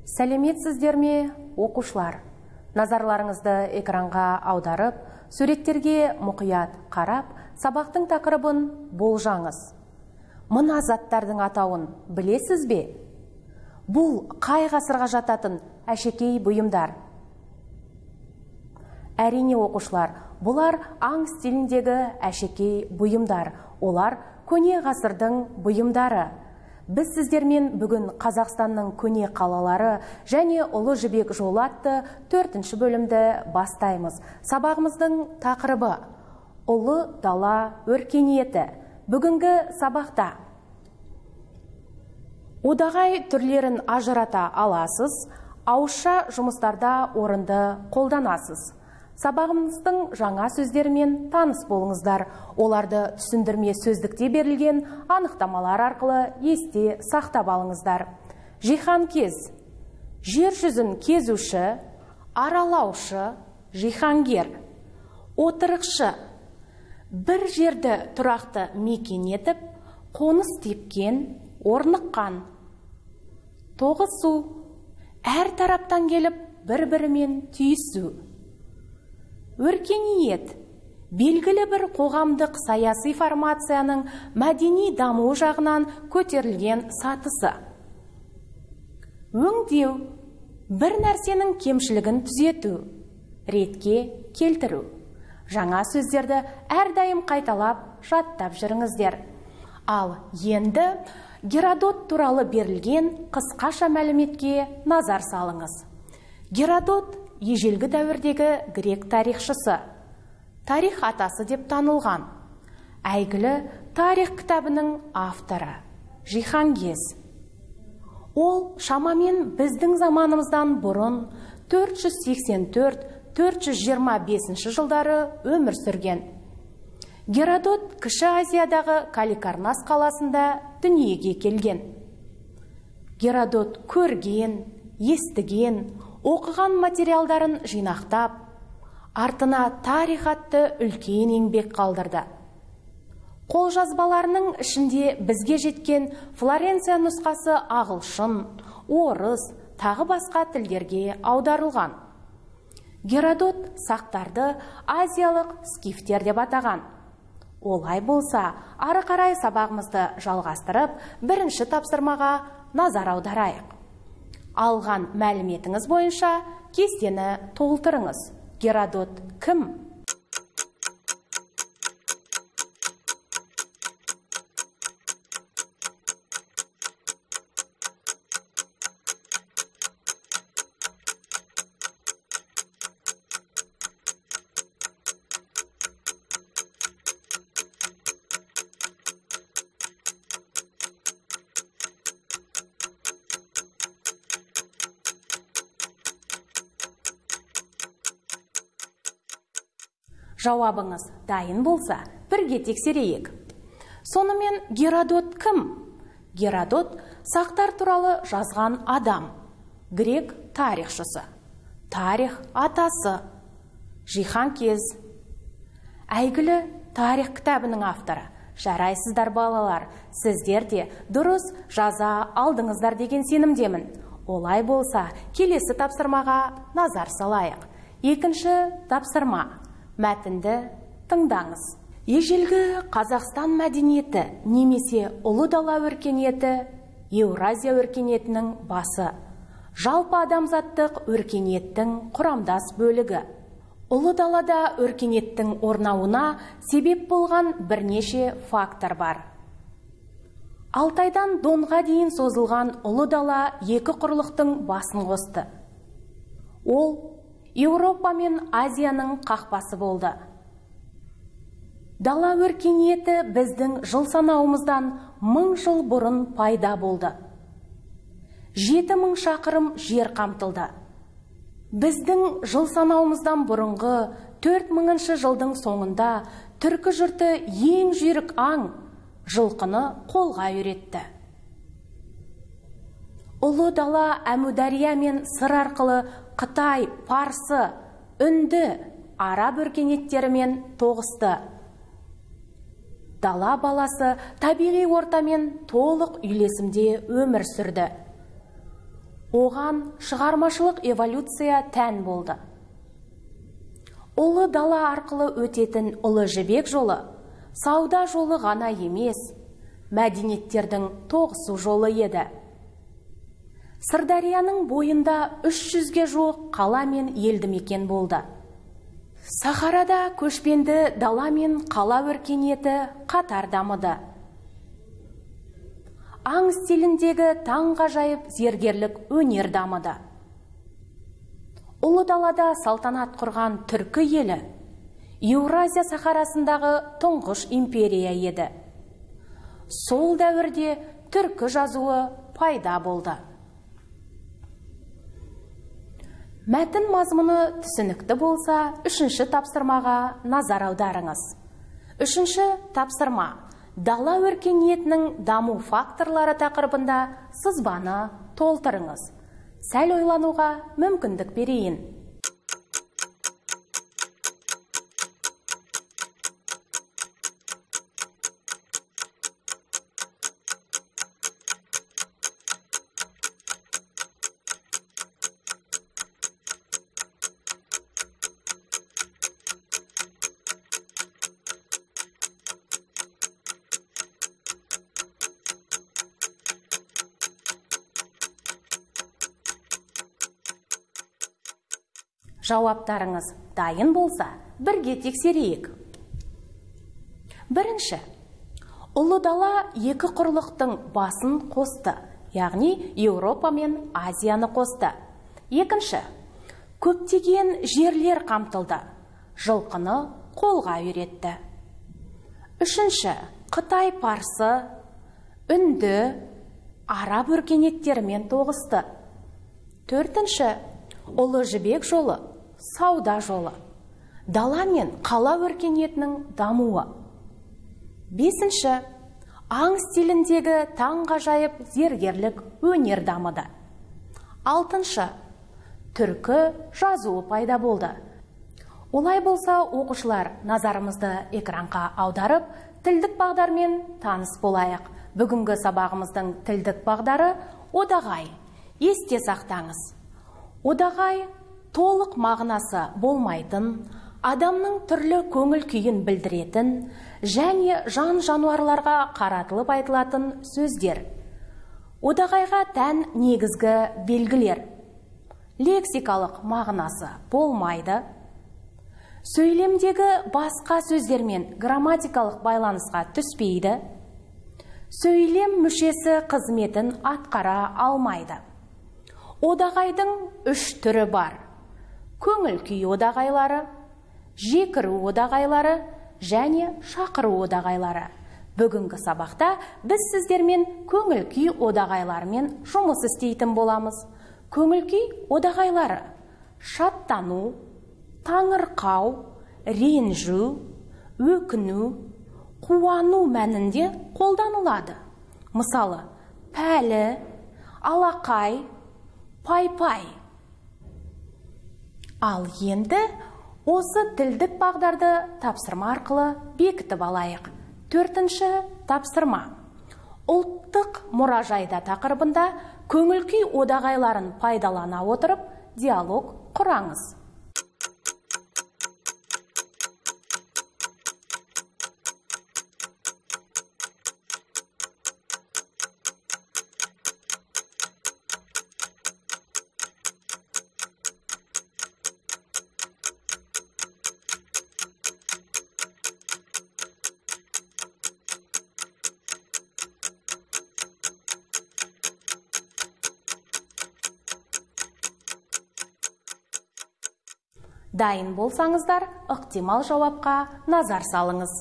Сәлеметсіздер ме, оқушылар? Назарларыңызды экранға аударып, суреттерге мұқият қарап, сабақтың тақырыбын болжаңыз. Мына заттардың атауын білесіз бе? Бұл қай ғасырға жататын әшекей бұйымдар? Әрине оқушылар, бұлар аң стиліндегі әшекей бұйымдар. Олар көне ғасырдың бұйымдары. Біз сіздермен бүгін Қазақстанның көне қалалары және Ұлы Жібек жолы атты 4-ші бөлімді бастаймыз. Сабағымыздың тақырыбы Ұлы дала өркениеті. Бүгінгі сабақта одағай түрлерін ажырата аласыз, ауызша жұмыстарда орынды қолданасыз. Сабағымыздың жаңа сөздерімен таныс болыңыздар. Оларды түсіндірме сөздікте берілген анықтамалар арқылы есте сақтап алыңыздар. Жиһанкез, жер жүзін кезуші, аралаушы, жиһангер. Отырықшы, бір жерді тұрақты мекен етіп, қоныс тепкен, орныққан. Тоғысу, әр тараптан келіп, бір-бірімен түйісу. Өркениет, белгілі бір қоғамдық саяси формацияның мәдени даму жағынан көтерілген сатысы. Өңдеу, бір нәрсенің кемшілігін түзету, ретке келтіру. Жаңа сөздерді әрдайым қайталап, жаттап жүріңіздер. Ал енді Геродот туралы берілген қысқаша мәліметке назар салыңыз. Геродот ежелгі дәуірдегі грек тарихшысы, тарих атасы деп танылған. Әйгілі тарих кітабының авторы, жиһангез. Ол шамамен біздің заманымыздан бұрын 484-425 жылдары өмір сүрген. Геродот Кіші Азиядағы Каликарнас қаласында дүниеге келген. Геродот көрген, естіген, оқыған материалдарын жинақтап, артына тарих атты үлкен еңбек қалдырды. Қолжазбаларының ішінде бізге жеткен Флоренция нұсқасы ағылшын, орыс, тағы басқа тілдерге аударылған. Геродот сақтарды азиялық скифтер деп атаған. Олай болса, ары қарай сабағымызды жалғастырып, бірінші тапсырмаға назар аударайық. Алған мәліметіңіз бойынша кестені толтырыңыз. Геродот кім? Жауабыңыз дайын болса, бірге тексерейік. Сонымен Геродот кім? Геродот сақтар туралы жазған адам, грек тарихшысы, тарих атасы, жиһанкез. Әйгілі тарих кітабының авторы. Жарайсыздар балалар, сіздер де дұрыс жаза алдыңыздар деген сенімдемін. Олай болса, келесі тапсырмаға назар салайық. Екінші тапсырма. Мәтінді тыңдаңыз. Ежелгі Қазақстан мәдениеті немесе ұлы дала өркениеті Еуразия өркениетінің басы. Жалпы адамзаттық өркениеттің құрамдас бөлігі. Ұлы далада өркениеттің орнауына себеп болған бірнеше фактор бар. Алтайдан Донға дейін созылған ұлы дала екі құрлықтың басын қосты. Ол Еуропа мен Азияның қақпасы болды. Дала өркениеті біздің жыл санауымыздан 1000 жыл бұрын пайда болды. 7000 шақырым жер қамтылды. Біздің жыл санауымыздан бұрынғы 4000 жылдың соңында түркі жұрты ең жүйрік аң, жылқыны қолға үйретті. Ұлы дала Әмудария мен Сыр арқылы Қытай, Парсы, Үнді, Араб өркениеттерімен тоғысты. Дала баласы табиғи ортамен толық үйлесімде өмір сүрді. Оған шығармашылық эволюция тән болды. Ұлы дала арқылы өтетін ұлы жібек жолы сауда жолы ғана емес, мәдениеттердің тоғысу жолы еді. Сырдарияның бойында 300-ге жуық қала мен елді мекен болды. Сахарада көшпенді дала мен қала өркениеті қатар дамыды. Аң стиліндегі таңғажайып зергерлік өнер дамыды. Ұлы далада салтанат құрған түркі елі Еуразия сахарасындағы тұңғыш империя еді. Сол дәуірде түркі жазуы пайда болды. Мәтін мазмұны түсінікті болса, үшінші тапсырмаға назар аударыңыз. Үшінші тапсырма: дала өркениетінің даму факторлары тақырыбында сызбаны толтырыңыз. Сәл ойлануға мүмкіндік берейін. Жауаптарыңыз дайын болса, бірге тексерейік. Бірінші, ұлы дала екі құрлықтың басын қосты, яғни Еуропа мен Азияны қосты. Екінші, көптеген жерлер қамтылды, жылқыны қолға үйретті. Үшінші, Қытай парсы, үнді, араб өркениеттерімен тоғысты. Төртінші, ұлы жібек жолы, сауда жолы, дала мен қала өркениетінің дамуы. Бесінші, аң стиліндегі таңғажайып зергерлік өнер дамыды. Алтыншы, түркі жазуы пайда болды. Олай болса, оқушылар, назарымызды экранға аударып, тілдік бағдармен таныс болайық. Бүгінгі сабағымыздың тілдік бағдары одағай. Есте сақтаңыз. Одағай толық мағынасы болмайтын, адамның түрлі көңіл күйін білдіретін және жан-жануарларға қаратылып айтылатын сөздер. Одағайға тән негізгі белгілер: лексикалық мағынасы болмайды, сөйлемдегі басқа сөздермен грамматикалық байланысқа түспейді, сөйлем мүшесі қызметін атқара алмайды. Одағайдың 3 түрі бар: көңіл күй одағайлары, жекіру одағайлары және шақыру одағайлары. Бүгінгі сабақта біз сіздермен көңіл күй одағайларымен жұмыс істейтін боламыз. Көңіл күй одағайлары шаттану, таңырқау, ренжу, өкіну, қуану мәнінде қолданылады. Мысалы, пәлі, алақай, пай-пай. Ал енді осы тілдік бағдарды тапсырма арқылы бекітіп алайық. 4-ші тапсырма: ұлттық мұражайда тақырыбында көңіл күй одағайларын пайдалана отырып диалог құраңыз. Дайын болсаңыздар, ықтимал жауапқа назар салыңыз.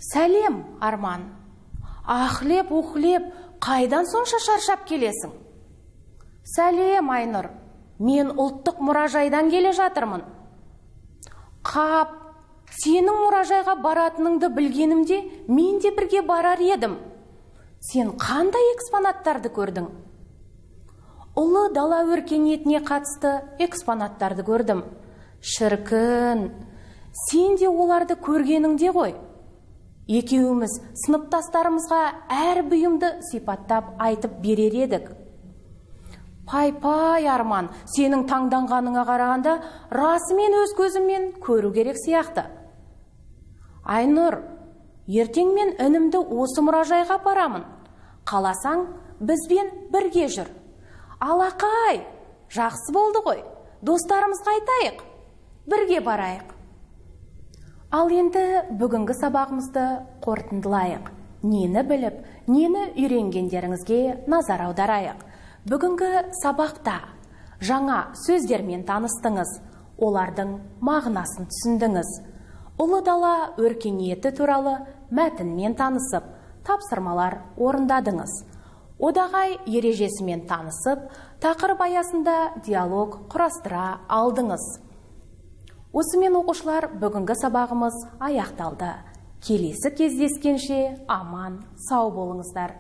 Сәлем, Арман. Ахлеп-ухлеп, қайдан сонша шаршап келесің? Сәлем, Айнұр. Мен ұлттық мұражайдан келе жатырмын. Қап, сенің мұражайға баратыныңды білгенімде, мен де бірге барар едім. Сен қандай экспонаттарды көрдің? Ұлы дала өркениетіне қатысты экспонаттарды көрдім. Шіркін, сен де оларды көргеніңде ғой. Екеуіміз сыныптастарымызға әр бұйымды сипаттап айтып берер едік. Пай Арман, сенің таңданғаныңа қарағанда расымен өз көзіммен көру керек сияқты. Айнұр, ертең мен інімді осы мұражайға апарамын. Қаласаң, бізбен бірге жүр. Алақай, жақсы болды ғой. Достарымызға айтайық, бірге барайық. Ал енді бүгінгі сабағымызды қорытындылайық. Нені біліп, нені үйренгендеріңізге назар аударайық. Бүгінгі сабақта жаңа сөздермен таныстыңыз, олардың мағынасын түсіндіңіз. Ұлы дала өркениеті туралы мәтінмен танысып, тапсырмалар орындадыңыз. Одағай ережесімен танысып, тақырып аясында диалог құрастыра алдыңыз. Осымен оқушылар, бүгінгі сабағымыз аяқталды. Келесі кездескенше аман, сау болыңыздар.